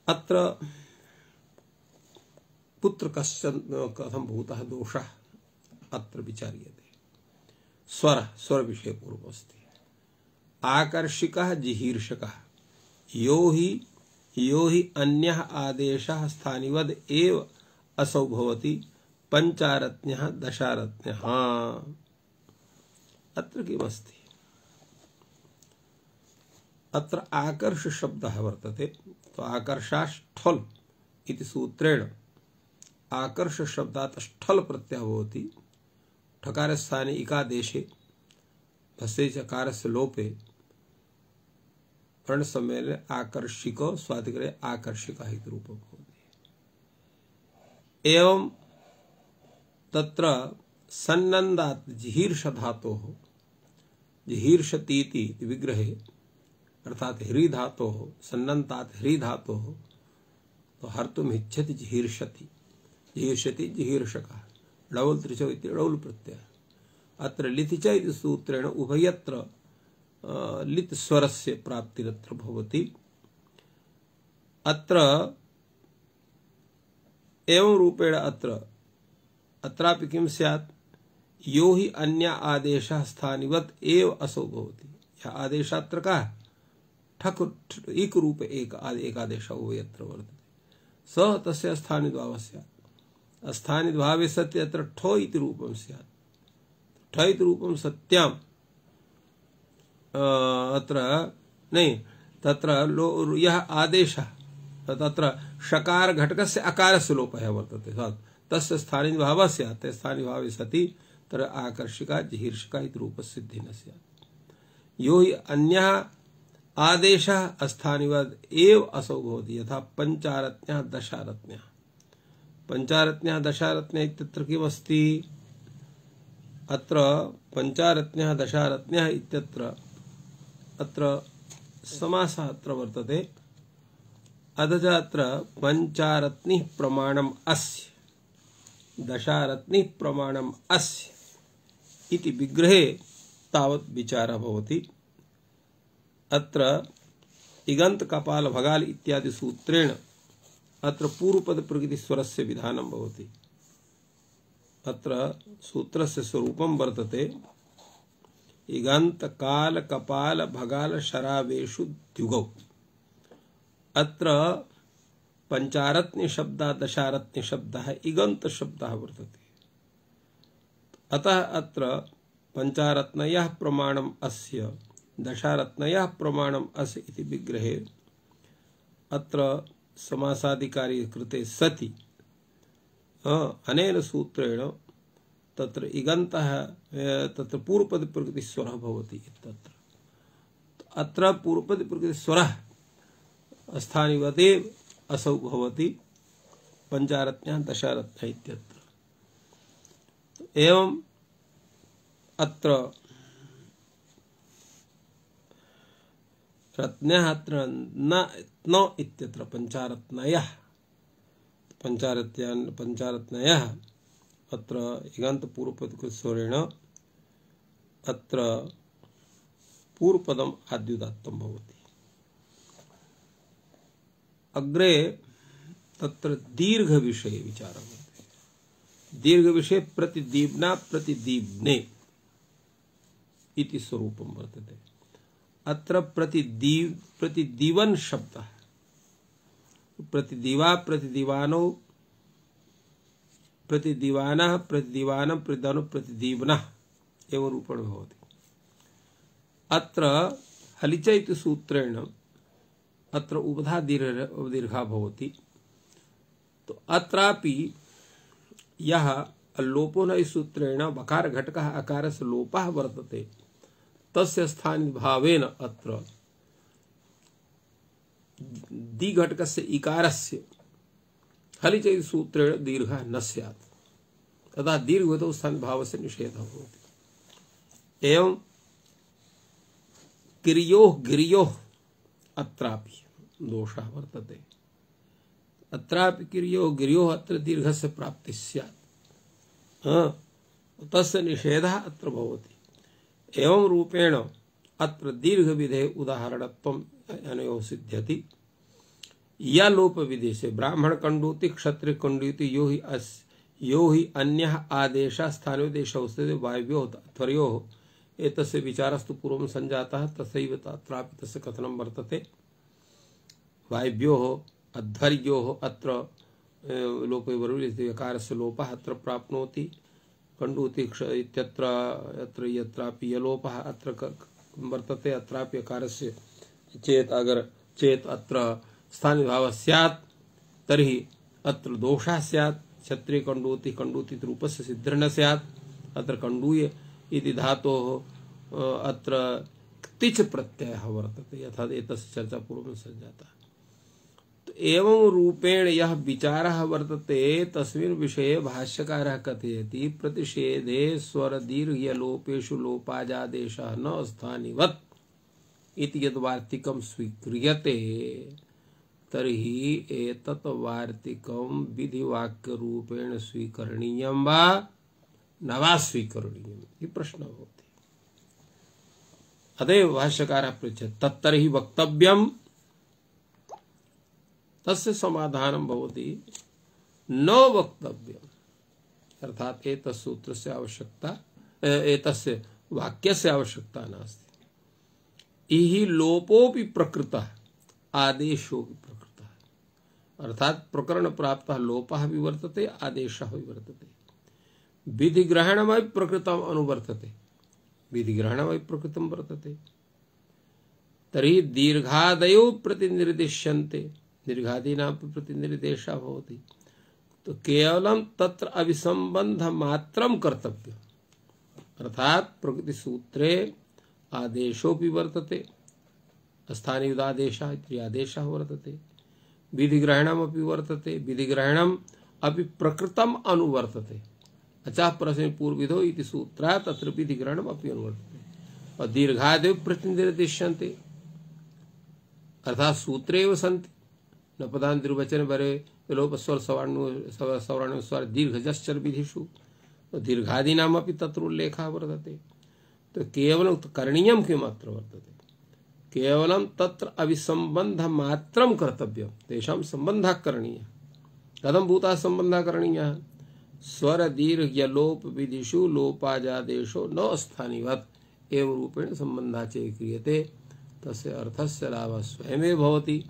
अत्र पुत्र कश्चन कथं भूतः दोषः अत्र विचार्यते। स्वर स्वर विषय पूर्वमस्ति। आकर्षिकः जिहीर्षकः यो हि यो हि अन्यः आदेशः स्थानिवद् एव असौ भवति पंचारत्न्यः दशारत्न्यः। अत्र किमस्ति? अत्र आकर्ष शब्दः वर्तते। तो आकर्षाष्ठल् इति सूत्रेण आकर्ष शब्दात् ष्ठल् प्रत्ययः भवति। ठकारस्थाने इकादेशे भस्ये चकारस्य लोपे वर्णसम्मेलने आकर्षिको स्वादिकरे आकर्षिकः इति रूपं भवति। एवं तत्र सन्नन्दात् जिहीर्ष धातोः जिहीर्षतीति विग्रहे अर्थात ह्री धातोः सन्नन्तात् ह्री धातोः तो हर्तुम् इच्छति जिहीर्षति जिहीर्षति जिहीर्षकः डौल् त्रिचौ इति डौल् प्रत्ययः। अत्र लिति च इति सूत्रेण उभयत्र लित् स्वरस्य प्राप्तिरत्र भवति। अत्र एवं रूपेण अत्र अत्रापि किं स्यात् यो हि अन्य आदेशः स्थानिवत् एव असौ भवति। यः आदेशः अत्र कः ठक् इक रूप एक एकादेशः उभयत्र वर्तते स तस्य स्थानिद्भावः स्यात्। स्थानिद्भावे सति अत्र ठो इति रूपं स्यात्। ठ इति रूपं सत्याम् अत्र नहीं तत्र लो यः आदेशः तत्र षकार घटकस्य अकारस्य लोपः वर्तते तस्य स्थानिद्भावः स्यात्। स्थानिद्भावे सति तत्र आकर्षिका जिहीर्षिका इति रूपस्य सिद्धिः न स्यात्। यो हि अन्यः आदेशः अस्थानिवद् एव असौ भवति। यथा पंचारत्न्यः दशारत्न्यः पंचारत्न्यः दशारत्न्यः इत्यत्र किमस्ति? अत्र पंचारत्न्यः दशारत्न्यः इत्यत्र अत्र समासः अत्र वर्तते। अथ च अत्र पंचारत्निः प्रमाणम् अस्य दशारत्निः प्रमाणम् अस्य इति विग्रहे तावत् विचारः भवति। अत्र इगंत कपाल भगाल इत्यादि सूत्रेण अत्र पूर्वपद प्रकृति स्वरस्य विधानं भवति। अत्र सूत्रस्य स्वरूपं वर्तते इगंत काल कपाल भगाल शरावेषु द्युगौ। अत्र पंचारत्न्य शब्दः दशारत्न्य शब्दः इगंत शब्दः वर्तते। अतः अत्र पंचारत्नयः प्रमाणम् अस्य दशारत्नयः प्रमाणम् अस्य इति विग्रहे अत्र समासादिकारी कृते सति अनेन सूत्रेण तत्र इगन्तः तत्र पूर्वपद प्रकृति स्वरः भवति इत्यत्र। अत्र पूर्वपद प्रकृति स्वरः स्थानिवदेव असौ भवति पंचारत्न्यः दशारत्न्यः इत्यत्र। एवं अत्र रत्न्यः अत्र न न इत्यत्र पंचारत्नयः पंचारत्यान् पंचारत्नयः अत्र इगन्त पूर्वपद स्वरेण अत्र पूर्वपदम् आद्युदात्तं भवति। अग्रे तत्र दीर्घ विषये विचारः भवति। दीर्घ विषये प्रतिदीप्ना प्रतिदीप्ने इति स्वरूपं वर्तते। अत्र प्रतिदीव प्रतिदीवन शब्दः प्रतिदिवा प्रतिदिवानो प्रतिदिवानः प्रतिदिवानं प्रतिदानो प्रतिदीवनः एवं रूपेण भवति। अत्र हलिच इति सूत्रेण अत्र उभधा दीर्घ दीर्घा भवति। तो अत्रापि यः लोपो न सूत्रेण वकार घटकः अकारस्य लोपः वर्तते तस्य स्थाने भावेन अत्र दि घटकस्य इकारस्य हलिच इति सूत्रेण दीर्घः न स्यात्। तथा दीर्घवतो स्थाने भावस्य निषेधः भवति। एवं किर्योः गिर्योः अत्रापि दोषः वर्तते। अत्रापि किर्योः गिर्योः अत्र दीर्घस्य प्राप्तिः स्यात्, तस्य निषेधः अत्र भवति। एवं रूपेण अत्र दीर्घविधेः उदाहरणत्वम् अनयोः सिद्ध्यति। या लोप विदेशे ब्राह्मण कंडूति क्षत्रिय कंडूति यो हि अस् यो हि अन्यः आदेशः स्थानयो देशौ स्थिते वायव्योः त्वर्योः एतस्य विचारस्तु पूर्वं संजातः तथैव तत्रापि तस्य कथनं वर्तते। वायव्योः अध्वर्योः अत्र लोपे वरुलिति यकारस्य लोपः अत्र प्राप्नोति। कंडूति क्ष इत्यत्र अत्र यत्रापि यलोपः अत्र वर्तते अत्रापि यकारस्य चेत अगर चेत अत्र स्थाने भावः स्यात् तर्हि अत्र दोषः स्यात्। क्षत्रिय कंडूति कंडूति रूपस्य सिद्धिर् न स्यात्। अत्र कंडूय इति धातोः अत्र तिच प्रत्ययः वर्तते यथा एतस्य चर्चा पूर्वं संजाता। तो एवं रूपेण यः विचारः वर्तते तस्मिन् विषये भाष्यकारः कथयति प्रतिषेधे स्वरदीर्घलोपेषु लोपाजादेशः न स्थानिवत् इति यद् वार्तिकं स्वीक्रियते तर्हि एतत् वार्तिकं विधिवाक्यरूपेण स्वीकरणीयं वा न वा स्वीकरणीयम् इति प्रश्नः भवति। अतएव भाष्यकारः पृच्छति तत्तर्हि वक्तव्यम्। तस्य समाधानं भवति न वक्तव्यम्, अर्थात् एतस्य सूत्रस्य आवश्यकता एतस्य वाक्यस्य आवश्यकता नास्ति। इहि लोपोऽपि प्रकृतः आदेशोऽपि प्रकृतः, अर्थात् प्रकरण प्राप्तः लोपः भी वर्तते आदेशः भी वर्तते। विधिग्रहणमपि प्रकृतम् अनुवर्तते विधिग्रहणमपि प्रकृतं वर्तते। तर्हि दीर्घादयो प्रतिनिर्दिश्यन्ते दीर्घादीनापि प्रतिनिर्देशः भवति। तो केवलं तत्र अभिसंबन्धमात्रं कर्तव्यम्, अर्थात् प्रकृतिसूत्रे आदेशोऽपि वर्तते स्थानीयुदादेशः इति आदेशः वर्तते। विधिग्रहणमपि वर्तते विधिग्रहणम् अपि प्रकृतम् अनुवर्तते। अचः प्रश्ने पूर्वविधौ इति सूत्रात् तत्र विधिग्रहणम् अपि अनुवर्तते। और दीर्घादयो प्रतिनिर्दिश्यन्ते अर्थात् सूत्रे एव सन्ति। न पदान् द्विवचन वरे लोप स्वर सवर्णो सवर्णो स्वर दीर्घजश्चर विधिषु दीर्घादीनामपि तत्र उल्लेखः वर्तते। तो केवलं करणीयं किम् अत्र वर्तते, केवलं तत्र अभिसंबन्धमात्रं कर्तव्यं। तेषां सम्बन्धः करणीयः। कथं भूतः सम्बन्धः करणीयः? स्वर दीर्घ यलोप विधिषु लोपाजादेशो न स्थानिवत् एवं रूपेण सम्बन्धः च क्रियते। तस्य अर्थस्य लाभः स्वयमेव भवति।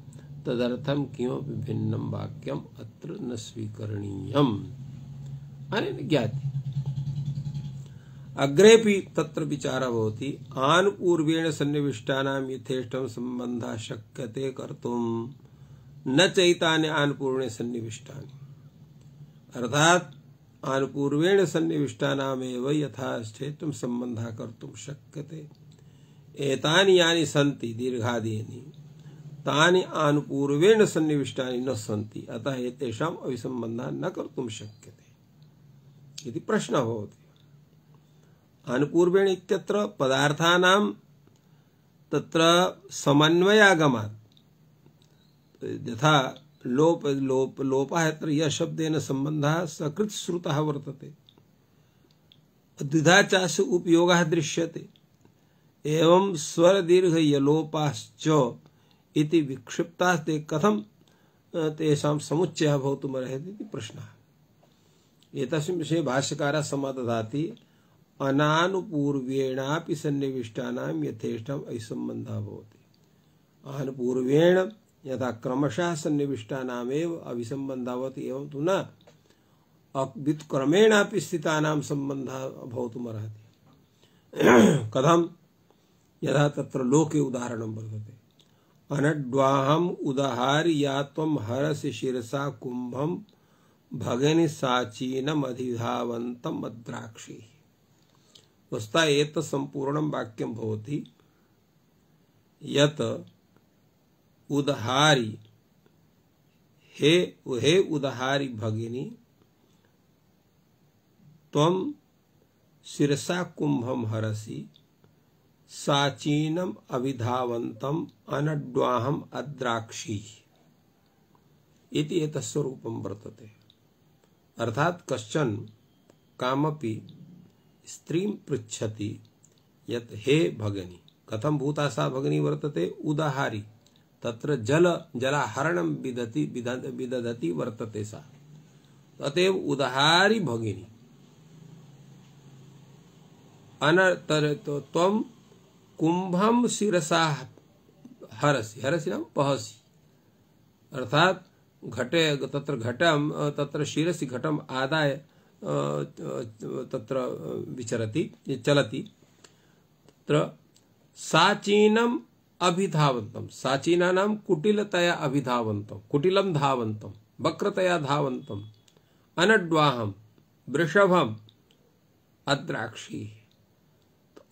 तदर्थं किमपि भिन्नं वाक्यम् अत्र न स्वीकरणीयम्। अनेन ज्ञाति। अग्रेपि तत्र विचारः भवति आनुपूर्वेण सन्निविष्टानां यथेष्टं सम्बन्धः शक्यते कर्तुं न चैतानि आनुपूर्वेण सन्निविष्टानि, अर्थात् आनुपूर्वेण सन्निविष्टानामेव यथाश्चेत्तं सम्बन्धः कर्तुं शक्यते। एतानि यानि सन्ति दीर्घादीनि तानि आनुपूर्वेण सन्निविष्टानि न सन्ति, अतः एतेषाम् अविसम्बन्धः न कर्तुं शक्यते इति प्रश्नः भवति। आनुपूर्वेण इत्यत्र पदार्थानां तत्र समन्वयागमात्, यथा लोप लोप लोपः यत्र यः शब्देन सम्बन्धः सकृत् श्रुतः वर्तते, द्विधा चास्य उपयोगः दृश्यते, एवं स्वर दीर्घ यलोपाश्च इति विक्षिप्ताः ते कथं तेषां समुच्चयः भवितुमर्हति इति प्रश्नः। एतस्मिन् विषये भाष्यकारः समादधाति अनानुपूर्वेणापि सन्निविष्टानां यथेष्टम् अविसम्बन्धः भवति। आनुपूर्वेण यथा क्रमशः सन्निविष्टानामेव अविसम्बन्धः भवति, एवं तु न व्युत्क्रमेणापि स्थितानां सम्बन्धः भवितुमर्हति। कथं? यथा तत्र लोके उदाहरणं वर्तते, अनड्वाहम् उदहारि या त्वं हरसि शिरसा कुम्भं भगिनि साचीनम् अधिधावन्तम् अद्राक्षी। वस्तुतः एतत् सम्पूर्णं वाक्यं भवति यत् उदहारि, हे हे उदहारि भगिनी, त्वं शिरसा कुम्भं हरसि साचीनम अविधावन्तम अनड्वाहम अद्राक्षी इति एतस्य रूपं वर्तते। अर्थात कश्चन कामपि स्त्रीं पृच्छति यत् हे भगिनी, कथं भूता सा भगिनी वर्तते? उदाहारी, तत्र जल जलाहरणं विदति विदधति वर्तते सा, अतएव उदाहारी भगिनी। अनतर तो त्वं कुंभम शिरसा हरसि, हरसि नाम पहसि, अर्थात घटे तत्र घटम तत्र शिरसि घटम आदाय तत्र विचरति चलति, तत्र साचीनम अभिधावन्तम, साचीना नाम कुटिलतया अभिधावन्तम, कुटिलम धावन्तम, वक्रतया धावन्तम, अनड्वाहम वृषभम अद्राक्षी।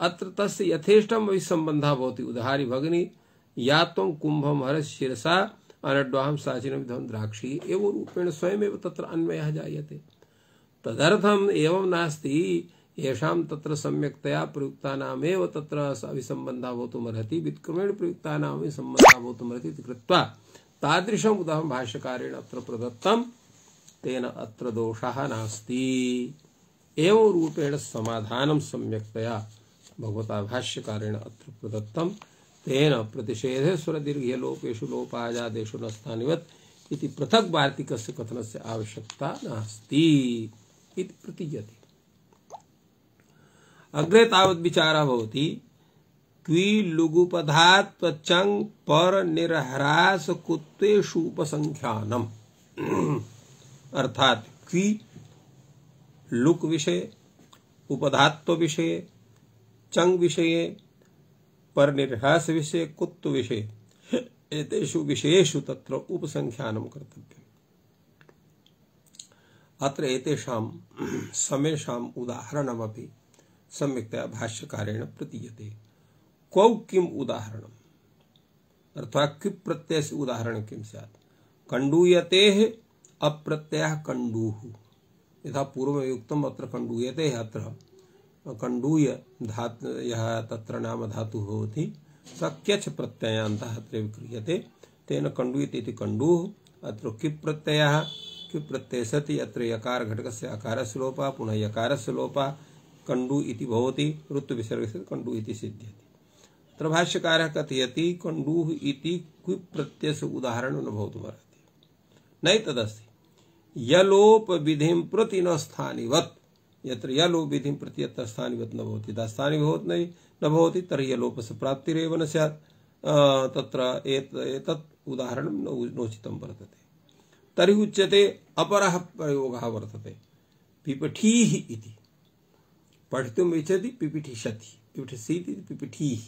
अत्र तस्य यथेष्टम विसम्बन्धः भवति। उदाहारी भगिनी या त्वं कुंभम हरसि शिरसा अनड्वाहम साचीनम विधम द्राक्षी एवं रूपेण स्वयमेव तत्र अन्वयः जायते। तदर्थम् एवं नास्ति येषां तत्र सम्यक्तया प्रयुक्तानामेव तत्र विसम्बन्धः भवितुमर्हति, व्युत्क्रमेण प्रयुक्तानामेव सम्बन्धः भवितुमर्हति इति कृत्वा तादृशम् उदाहरणं भाष्यकारेण अत्र प्रदत्तं, तेन अत्र दोषः नास्ति। एवं रूपेण समाधानं सम्यक्तया भगवता भाष्यकारेण अत्र प्रदत्तं, तेन प्रतिषेधे स्वरदीर्घलोपेषु लोपाजादेषु न स्थानिवत् इति पृथक् वार्तिकस्य कथनस्य आवश्यकता नास्ति इति प्रतीयते। अग्रे तावत् विचारः भवति क्वि लुगुपधात् चङ् पर निर्ह्रास कुत्वेषु उपसंख्यानम्। अर्थात क्वि लुक विषये, उपधात्व विषये, चंग विषये, पर निर्ह्रास विषये, कुत्व विषये, एतेषु विषयेषु तत्र उपसंख्यानं कर्तव्यम्। अत्र एतेषां समेषाम् उदाहरणमपि सम्यक्तया भाष्यकारेण प्रतीयते। क्वौ किम् उदाहरणम्, अर्थात् क्विप् प्रत्ययस्य उदाहरणं किं स्यात्? कण्डूयतेः अप्रत्ययः कण्डूः, यथा पूर्वयुक्तम् अत्र कण्डूयते, अत्र कण्डूय धातु यः तत्र नाम धातुः भवति स क्यच् प्रत्ययान्तः अत्र विक्रियते, तेन कण्डूयते इति कण्डूः। अत्र किप् प्रत्ययः, किप् प्रत्यये सति अत्र यकार घटकस्य अकारस्य लोपः, पुनः यकारस्य लोपः, कण्डू इति भवति, ऋत्विसर्गस्य कण्डू इति सिद्ध्यति। अत्र भाष्यकारः कथयति कण्डूः इति क्विप् प्रत्ययस्य उदाहरणं न भवितुमर्हति, नैतदस्ति। यलोप विधिं प्रति न स्थानिवत्, यत्र यलोप विधिं प्रति यत्र स्थानिवत् न भवति, यदा स्थानिवत् न भवति तर्हि यलोपस्य प्राप्तिरेव न स्यात्। तत्र एतत् उदाहरणं नोचितं वर्तते। तर्हि उच्यते अपरः प्रयोगः वर्तते, पिपठीः इति। पठितुम् इच्छति पिपीठिष्यति, पिपठिष्यति इति पिपीठीः,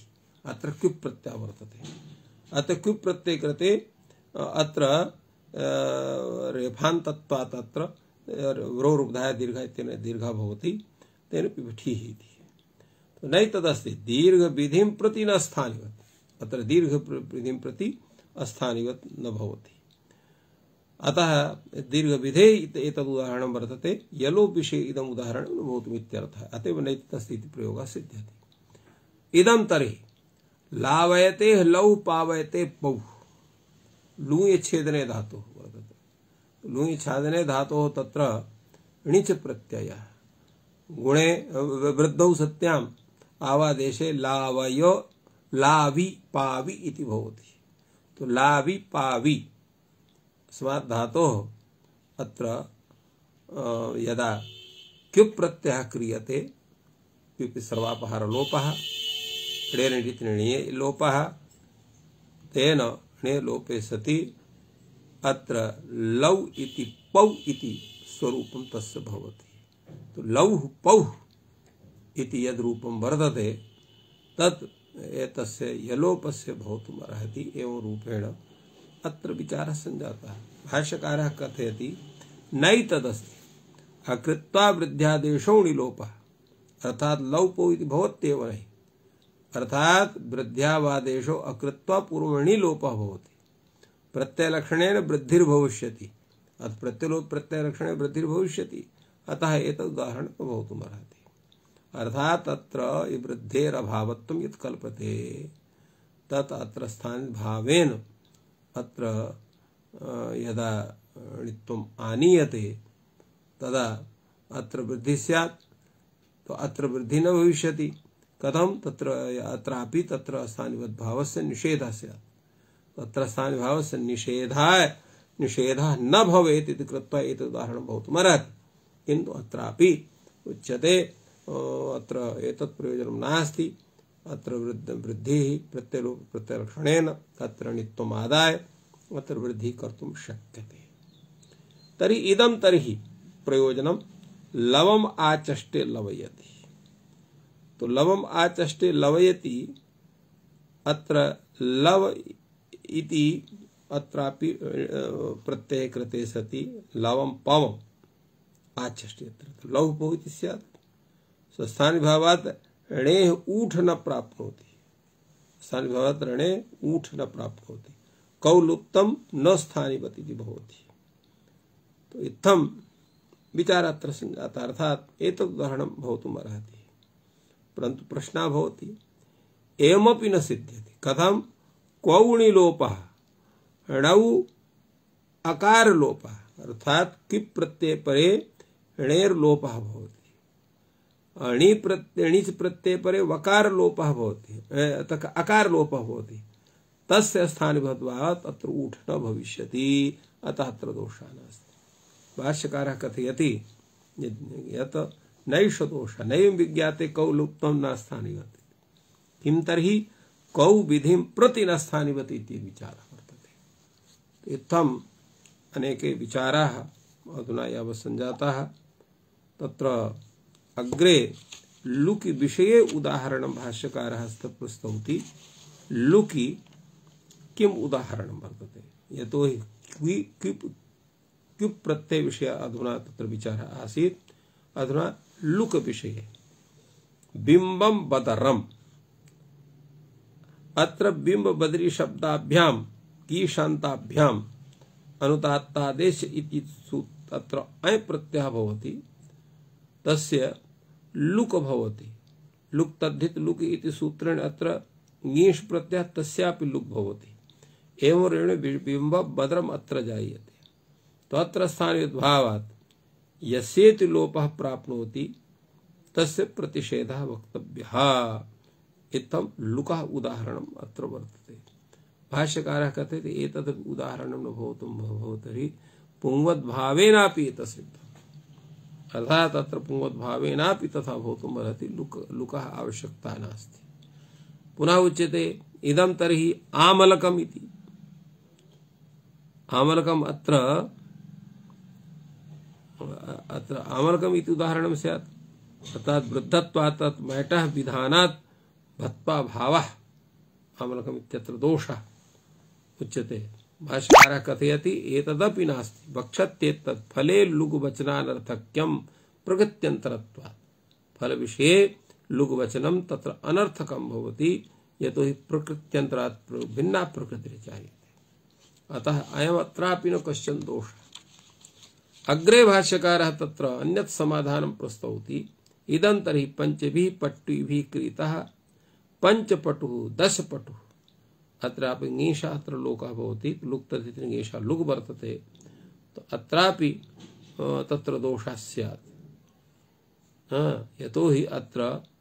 अत्र क्विप् प्रत्ययः वर्तते। अत्र क्विप् प्रत्यये कृते अत्र रेफान्तत्वात् अत्र रो रूपधाया दीर्घ इत्यनेन दीर्घः भवति, तेन पिपठीः इति। तो नहीं तदस्ति दीर्घ विधिं प्रति न स्थानिवत्, अत्र दीर्घ विधिं प्रति अस्थानिवत् न भवति। अतः दीर्घ विधे एतद् उदाहरणं वर्तते, यलो विषये इदम् उदाहरणं न भवतुम् इत्यर्थः। अतएव नैतदस्ति इति प्रयोगः सिद्ध्यति। इदं तर्हि लावयते लौ पावयते पौ लूय छेदने धातुः वर्तते। लूय छेदने धातोः तत्र णिच प्रत्ययः गुणे वृद्धौ सत्याम् आवादेशे लावय लावि पावि इति भवति। तो लावि पावि अस्मात् धातोः अत्र यदा क्युप् प्रत्ययः क्रियते क्युपि सर्वापहार लोपः णेरिति णिये लोपः तेन णे लोपे सति अत्र लौ इति पौ इति स्वरूपं तस्य भवति। तो लौः पौः इति यद् रूपं वर्तते तत् एतस्य यलोपस्य भवितुम् अर्हति। एवं रूपेण अत्र विचारः सञ्जातः। भाष्यकारः कथयति नैतदस्ति अकृत्वा वृद्ध्यादेशो णिलोपः, अर्थात लौपो इति भवत्येव नहि, अर्थात वृद्ध्यावादेशो अकृत्वा पूर्वणि लोपः भवति। प्रत्ययलक्षणेन वृद्धिर्भविष्यति, अतः प्रत्यलोप प्रत्ययलक्षणे वृद्धिर्भविष्यति, अतः एतद् उदाहरणं भवितुम् अर्हति। अर्थात तत्र वृद्धेरभावत्वं यत् कल्पते तत् अत्र स्थानभावेन अत्र यदा णित्वम् आनीयते तदा अत्र वृद्धि स्यात्। तो अत्र वृद्धि न भविष्यति। कथं? तत्र अत्रापि तत्र स्थानिवद्भावस्य निषेधः स्यात्। तत्र स्थानिभावस्य निषेधाय निषेधः न भवेत् इति कृत्वा एतत् उदाहरणं भवितुम् अर्हति। किन्तु अत्रापि उच्यते अत्र एतत् प्रयोजनं नास्ति। अत्र वृद्ध वृद्धिः प्रत्ययलोप प्रत्ययलक्षणेन तत्र णित्वम् आदाय अत्र वृद्धिः कर्तुं शक्यते। तर्हि इदं तर्हि प्रयोजनं लवम् आचष्टे लवयति। तो लवम् आचष्टे लवयति अत्र लव इति अत्रापि प्रत्यये कृते सति लवं पवम् आचष्टे अत्र लौः पौ इति स्यात्। स्थानिभावात् णेः ऊठ न प्राप्नोति, स्थानिभावात् णे ऊठ न प्राप्नोति, कौलुप्तं न स्थानिवत् इति भवति। तो इत्थं विचारः अत्र सञ्जातः, अर्थात् एतद् उदाहरणं भवितुम् अर्हति। परन्तु प्रश्नः भवति एवमपि न सिद्ध्यति। कथं? क्वौ णिलोपः णौ अकारलोपः, अर्थात् किप् प्रत्यये परे णेर्लोपः भवति, णि प्रत्यय णिच् प्रत्यये परे वकार लोपः भवति, अकार लोपः भवति, तस्य स्थानिभद्भावात् अत्र ऊठ न भविष्यति, अतः अत्र दोषः नास्ति। भाष्यकारः कथयति यत् नैष दोषः नैव विज्ञाते कौ लुप्तं न स्थानिवत्, किं तर्हि कौ विधिं प्रति न स्थानिवत् इति विचारः वर्तते। इत्थम् अनेके विचाराः अधुना यावत् सञ्जाताः। तत्र अग्रे लुकि विषये उदाहरणं भाष्यकारः प्रस्तौति। लुकि किम् उदाहरणं वर्तते? यतोहि क्युप् क्युप् प्रत्यय विषय अधुना तत्र विचारः आसीत्। अधुना लुक विषये बिम्बं बदरम्, अत्र बिम्ब बदरी शब्दाभ्यां कीशान्ताभ्याम् अनुदात्तादेश इति अत्र अय प्रत्ययः भवति, तस्य लुक भवति। लुक तद्धित लुक इति सूत्रेण अत्र ङीष् प्रत्ययः तस्यापि लुक भवति। एवं ऋण बिम्ब बदरम् अत्र जायते। तो अत्र स्थानयुद्भावात् यस्येति लोपः प्राप्नोति तस्य प्रतिषेधः वक्तव्यः। इत्थं लुकः उदाहरणम् अत्र वर्तते। भाष्यकारः कथयति एतद् उदाहरणं न भवितुं भवति पुंवद्भावेनापि एतत् सिद्धम्, अर्थात् अत्र पुंवद्भावेनापि तथा भवितुम् अर्हति। लुक लुकः आवश्यकता नास्ति। पुनः उच्यते इदं तर्हि आमलकम् इति। आमलकम् अत्र अत्र आमलकम् इति उदाहरणं स्यात्, अर्थात् वृद्धत्वात् तत् मैटः विधानात् भत्वा भावः आमलकम् इत्यत्र दोषः उच्यते। भाष्यकारः कथयति एतदपि नास्ति, वक्षत्येतत् फले लुग् वचनानर्थक्यं प्रगत्यन्तरत्वात्। फल विषये लुग्वचनं तत्र अनर्थकं भवति, यतो हि प्रकृत्यन्तरात् भिन्ना प्रकृतिः चाहिए। अतः अयमत्रापि न कश्चन दोषः। अग्रे भाष्यकारः तत्र अन्यत् समाधानं प्रस्तौति। इदं तर्हि पञ्चभिः पट्टिभिः क्रीतः पञ्चपटुः दशपटुः। अत्रापि ङीषा अत्र लोकः भवति, लुक्ततिथि ङीषा लुग् वर्तते, तो अत्रापि तत्र दोषः स्यात्। यतो हि अत्र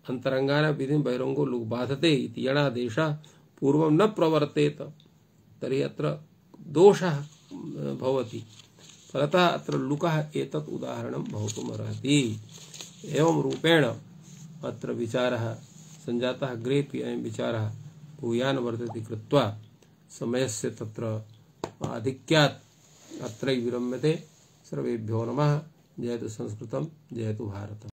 अन्तरङ्गानां विधिं बहिरङ्गो लुग् बाधते इति यणादेशः पूर्वं न प्रवर्तेत, तर्हि अत्र दोषः भवति। फलतः अत्र लुकः एतत् उदाहरणं भवितुमर्हति। एवं रूपेण अत्र विचारः सञ्जातः। अग्रेपि अयं विचारः भूयान् वर्तते कृत्वा समयस्य तत्र आधिक्यात् अत्रैव विरम्यते। सर्वेभ्यो नमः। जयतु संस्कृतं, जयतु भारतम्।